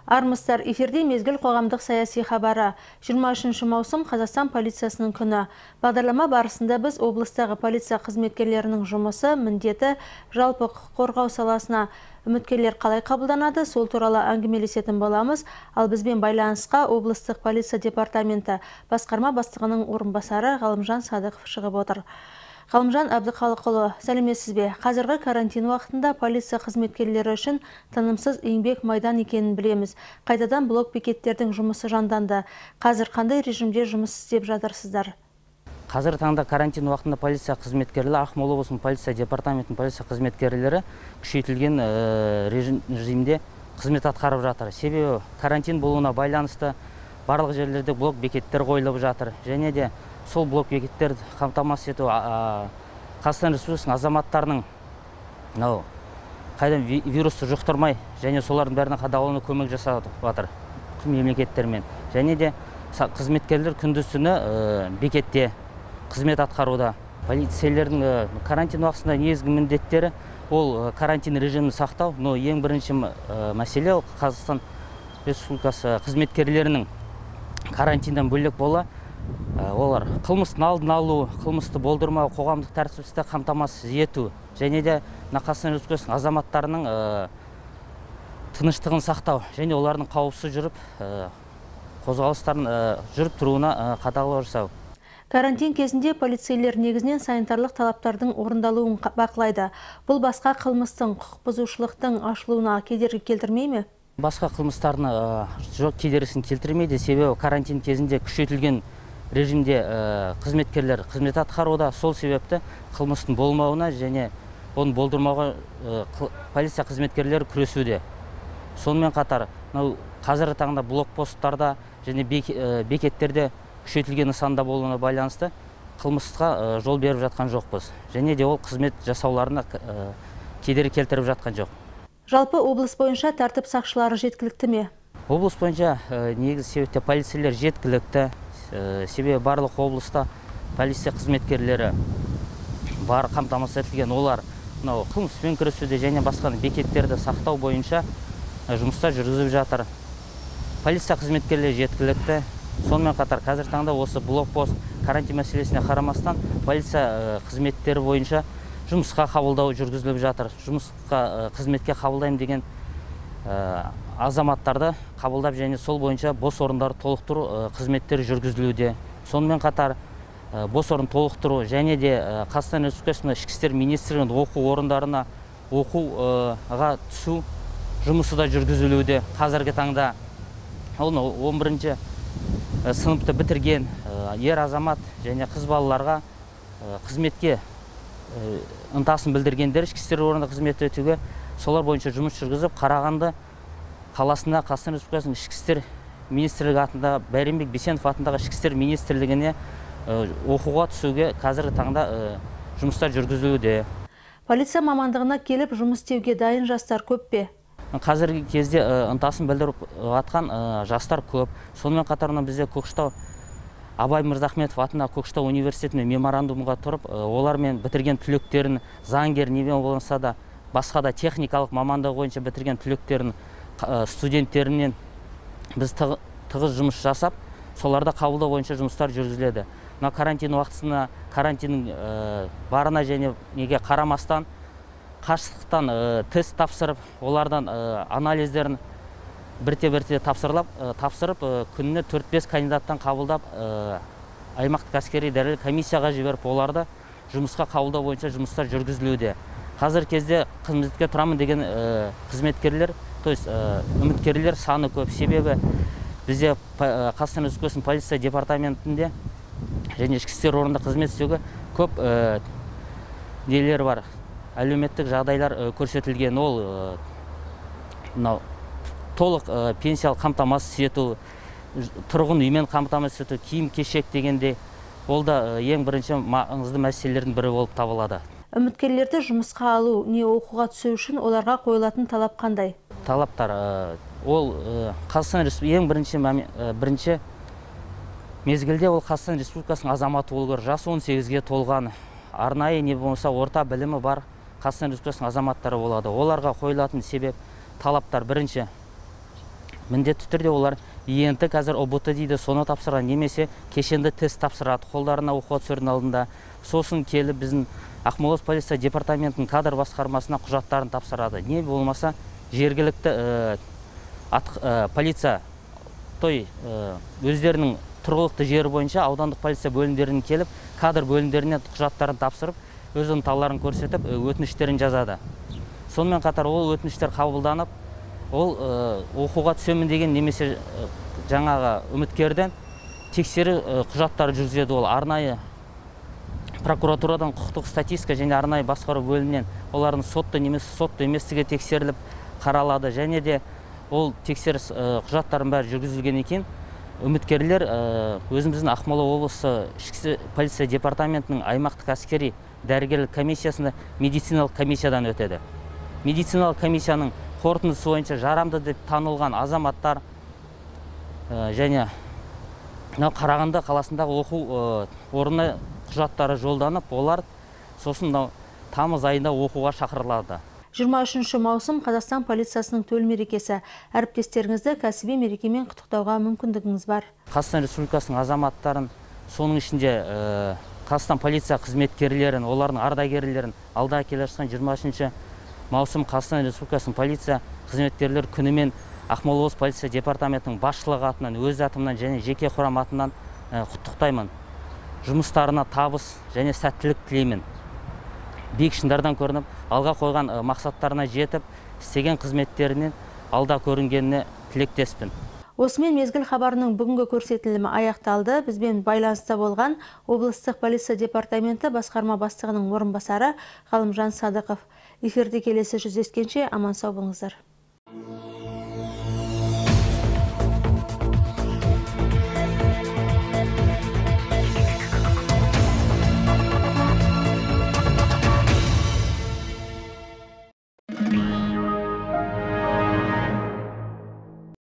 Армысыздар, эфирде мезгіл қоғамдық саяси хабары. 23 маусым Қазақстан полициясының күні. Бағдарлама барысында біз облыстағы полиция қызметкерлерінің жұмысы, міндеті, жалпы құқық қорғау саласына үміткерлер қалай қабылданады, сол туралы әңгімелесетін боламыз. Ал бізбен байланысқа облыстық полиция департаменті басқарма бастығының орынбасары Ғалымжан Садықов шығып отыр. Ғалымжан Әбдіқалықұлы, сәлеметсіз бе? Қазіргі карантин уақытында полиция қызметкерлері үшін тынымсыз еңбек майдан екенін білеміз. Қайтадан блок бекеттердің жұмысы жанданды. Қазір қандай режимде жұмыс істеп жатырсыздар? Қазір таңда карантин уақытында полиция қызметкерлері, Ақмола облысының полиция департаментінің полиция қызметкерлері күшейтілген режимде қызмет атқарып жатыр. Себебі карантин болуына байланысты барлық жерлерде блок бекеттер қойылып жатыр. Және де сол блок бекеттерді қамтамасыз ету Қазақстан Республикасының азаматтарының қайдан вирусты жұқтырмай және солардың бәріне қадағалауына көмек жасап жатыр мемлекеттермен. Және де қызметкерлер күндіз-түні бекетте қызмет атқаруда. Полицейлердің карантин уақытында негізгі міндеттері ол карантин режимін сақтау. Но ең бірінші мәселе Қазақстан Республикасы қызметкерлерінің карантиндан бөлек бола олар қылмыстың алдын алу, қылмысты болдырмау, қоғамдық тәртіпті қамтамасыз ету және де Қазақстан Республикасының азаматтарының тыныштығын сақтау және олардың қауіпсіз жүріп қозғалыстарын жүріп тұруына қадағалау жасау. Карантин кезінде полицейлер негізінен санитарлық талаптардың орындалуын бақылайды. Бұл басқа қылмыстың, құқық бұзушылықтың ашылуына кедергі келтірмей ме? Басқа қылмыстарына жоқ кедергісін келтірмейді. Себебі карантин кезінде күшейтілген режимде қызметкерлер қызмет атқаруда. Сол себепті қылмыстың болмауына және оны болдырмауға полиция қызметкерлері күресуде. Сонымен қатар, қазіргі таңда блокпосттарда және бекеттерде күшейтілген нысанда болуына байланысты қылмысқа жол беріп жатқан жоқпыз. Және де ол қызмет жасауларына кедергі келтіріп жатқан жоқ. Жалпы облыс бойынша тәртіп сақшылары жеткілікті ме? Облыс бойынша негізгі себепте полицейлер жеткілікті. Себебі барлық облыста полиция қызметкерлері бар қамтамасыз етілген. Олар қылмыспен күресуде және басқа бекеттерді сақтау бойынша жұмыстар жүргізіп жатыр. Полиция қызметкерлері жеткілікті. Сонымен қатар қазір таңда осы блокпост карантин мәселесіне қарамастан полиция қызметтері бойынша жұмысқа қабылдау жүргізіліп жатыр. Жұмысқа қызметке қабылдаймын деген азаматтарды қабылдап және сол бойынша бос орындарды толықтыру қызметтері жүргізілуде. Сонымен қатар бос орын толықтыру және де Қазақстан Республикасының ішкі істер министрлігінің оқу орындарына оқуға түсу жұмысы да жүргізілуде. Қазіргі таңда 11-ші сыныпты бітірген ер азамат және қыз балаларға қызметке ынтасын білдіргендер ішкі істер орнында қызмет өтуге солар бойынша жұмыс жүргізіп, Қарағанды қаласында Қазақстан Республикасының ішкі істер министрлігі атындағы Бәйренбек Бейсенов атындағы ішкі істер министрлігіне оқуға түсуге қазіргі таңда жұмыстар жүргізілуде. Полиция мамандығына келіп жұмыс істеуге дайын жастар көп пе? Қазіргі кезде ынтасын білдіріп атқан жастар көп. Сонымен қатар бізде Көкшетау Абай Мырзахметов атындағы Көкшетау университетіне меморандумға тұрып, олармен бітірген түлектерін, заңгер немен болса да, басқа да техникалық мамандығы бойынша бітірген түлектерін, студенттерінен біз тығыз жұмыс жасап, соларда қабылдау бойынша жұмыстар жүргізіледі. Карантин уақытысына, карантиннің барына және неге қарамастан, қашықтықтан тест тапсырып, олардан анализдерін бірте-бірте тапсырып, күніне 4-5 кандидаттан қабылдап, аймақтық әскери дәрігерлік комиссияға жіберіп, оларды жұмысқа қабылдау бойынша жұмыстар жүргізілуде. Қазір кезде қызметке тұрамын деген қызметкерлер, то есть үміткерлер саны көп. Себебі бізде Қазақстан Республикасының полиция департаментінде және ішкі істер орнында қызмет істеуге көп нелер бар. Әлеуметтік жағдайлар көрсетілген. Ол толық пенсиялық қамтамасыз ету, тұрғын үймен қамтамасыз ету, киім-кешек дегенде ол да ең бірінші маңызды мәселелердің бірі болып табылады. Үміткерлерді жұмысқа алу, не оқуға түсу үшін оларға қойылатын талап қандай? Талаптар ол Қазақстан Республикасының ең бірінші мезгілде ол Қазақстан Республикасының азаматы болу керек. Жасы 18-ге толған, арнайы не болмаса орта білімі бар Қазақстан Республикасының азаматтары болады. Оларға қойылатын себеп талаптар бірінші міндетті түрде олар ЕНТ қазір ОБТ дейді, соны тапсырған, немесе кешенді тест тапсырады қолдарына оқуға түсердің алдында. Сосын келіп біздің Ақмола облысы полиция департаментінің кадр басқармасына құжаттарын тапсырады. Не болмаса жергілікті полиция өздерінің тұрғылықты жері бойынша аудандық полиция бөлімдеріне келіп, кадр бөлімдеріне құжаттарын тапсырып, өз ынталарын көрсетіп, өтініштерін жазады. Сонымен қатар ол өтініштер қабылданып, ол оқуға түсемін деген немесе жаңағы үміткерден тексеру құжаттары жүргізеді. Ол арнайы прокуратурадан құқықтық статистика және арнайы басқару бөлімінен олардың сотты немесе сотты еместігі тексеріліп қаралады. Және де ол тексеріс құжаттарын бәрі жүргізілген екен. Үміткерлер өзіміздің Ақмола облысы ішкі полиция департаментінің аймақтық әскери дәрігерлік комиссиясында медициналық комиссиядан өтеді. Медициналық комиссияның қорытындысы бойынша жарамды деп танылған азаматтар және Қарағанды қаласындағы оқу орнына құжаттары жолданып, олар сосын тамыз айында оқуға шақырылады. 23 маусым Қазақстан полициясының төл мерекесі. Әріптестеріңізді кәсіби мерекемен құттықтауға мүмкіндігіңіз бар. Қазақстан Республикасының азаматтарын, соның ішінде Қазақстан полиция қызметкерлерін, олардың ардагерлерін алда келе жатқан 23 маусым Қазақстан Республикасының полиция қызметкерлер күнімен Ақмола облысы полиция департаментінің басшылығы атынан, өз атымнан және жеке құрам атынан құттықтаймын. Жұмыстарына табыс және сәттілік тілеймін. Биік шыңдардан көрініп, алға қойған мақсаттарына жетіп, істеген қызметтерінен алда көрінгеніне тілектеспін. Осымен мезгіл хабарының бүгінгі көрсетілімі аяқталды. Бізбен байланыста болған облыстық полиция департаменті басқарма бастығының орынбасары Ғалымжан Садықов. Эфирде келесі жүздескенше аман сау болыңыздар.